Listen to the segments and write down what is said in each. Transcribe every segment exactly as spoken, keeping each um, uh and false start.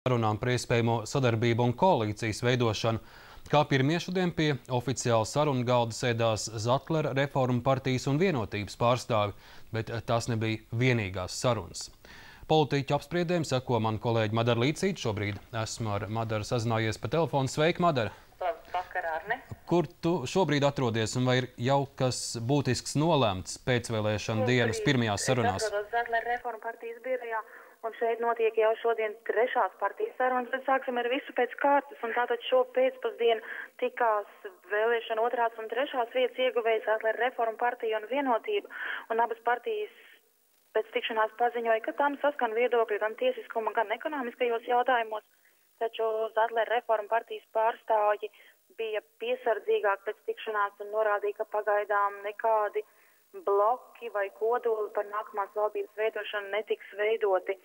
Runām par iespējamo sadarbību un koalīcijas veidošanu. Kā pirmie šodien pie oficiāla sarunu galda sēdās Zatlera, Reformu partijas un Vienotības pārstāvi, bet tās nebija vienīgās sarunas. Politiķu apspriedēm seko man kolēģi Madara Līcīte. Šobrīd esmu ar Madaru sazinājies pa telefonu. Sveika, Madara! Vakar, Arne. Kur tu šobrīd atrodies un vai ir jau kas būtisks nolēmts pēcvēlēšana dienas pirmajās sarunās? Es atrodos Zatlera Reformu partijas birojā, un šeit notiek jau šodien trešās partijas sarunas, bet sāksim ar visu pēc kārtas, un tātad šo pēcpusdienu tikās vēlēšana otrās un trešās vietas ieguvējas Zatlera Reformu partija un Vienotība, un abas partijas pēc tikšanās paziņoja, ka tam saskan viedokļi gan tiesiskuma, gan ekonomiskajos jautājumos, taču Zatlera Reformu partijas pārstāvji bija piesardzīgāk pēc tikšanās un norādīja, ka pagaidām nekādi bloki vai kodoli par nākamās valdības veidošanu netiks veidoti.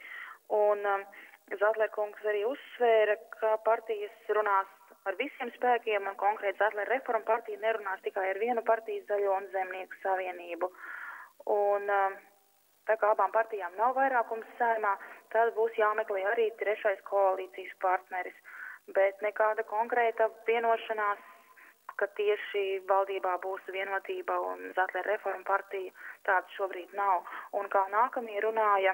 Un um, Zatlera kungs arī uzsvēra, ka partijas runās ar visiem spēkiem, un konkrēti Zatlera Reformu partija nerunās tikai ar vienu partiju, Zaļo un Zemnieku savienību. Un um, tā kā abām partijām nav vairākums saimā, tad būs jāmeklē arī trešais koalīcijas partneris. Bet nekāda konkrēta vienošanās, ka tieši valdībā būs Vienotība un Zatlera Reformu partija, tāda šobrīd nav. Un kā nākamie runāja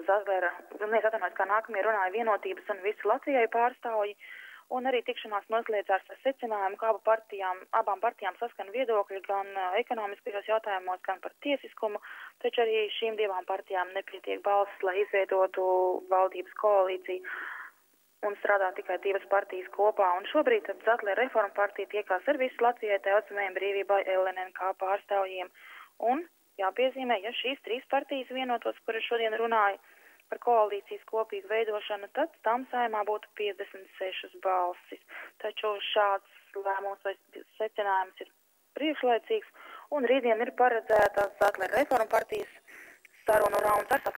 Zatlera, neatvainojos, kā nākamie runāja Vienotības un visu Latvijai pārstāvji, un arī tikšanās noslēdzās ar secinājumu, ka abu partijām, abām partijām saskan viedokļi gan ekonomiskajos jautājumos, gan par tiesiskumu, taču arī šīm divām partijām nepietiek balsis, lai izveidotu valdības koalīciju un strādā tikai divas partijas kopā. Un šobrīd Zatlera Reformu partija tiekās ar visu Latvijai Tautsmējiem brīvībai L N N K pārstāvjiem. Un jāpiezīmē, ja šīs trīs partijas vienotos, kuras šodien runāja par koalīcijas kopīgu veidošanu, tad tam saimā būtu piecdesmit sešas balsis. Taču šāds lēmums vai secinājums ir priekšlaicīgs, un rītdien ir paredzēta Zatlera Reformu partijas sarunu rauns ar